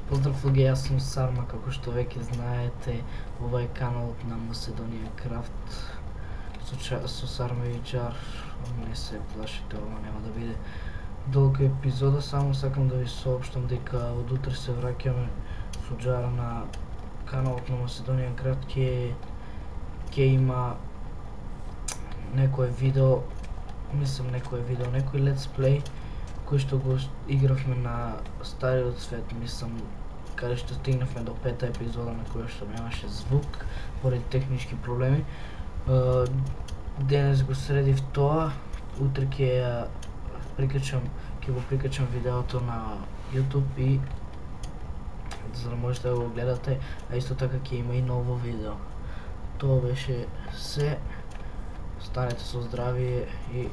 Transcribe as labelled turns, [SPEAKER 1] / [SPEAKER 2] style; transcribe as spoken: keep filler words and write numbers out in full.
[SPEAKER 1] Поздрав луѓе, јас сум Сарма, како што веќе знаете, ова е каналот на Macedonian Craft со, ча, со Сарма и Џар. Не се плашите, ова нема да биде долга епизода, само сакам да ви соопштам дека од утре се враќаме со Џар на каналот на Macedonian Craft. Ке, ке има некое видео, мислам некое видео, некој let's play кој што го игравме на стариот свет, мислам, каде што стигнавме до пета епизода на која што немаше звук поради технички проблеми. Денес го средив тоа, утре ќе ја прикачам, ќе го прикачам видеото на YouTube и за да можете да го гледате, а исто така ќе има и ново видео. Тоа беше се. Останете со здравие и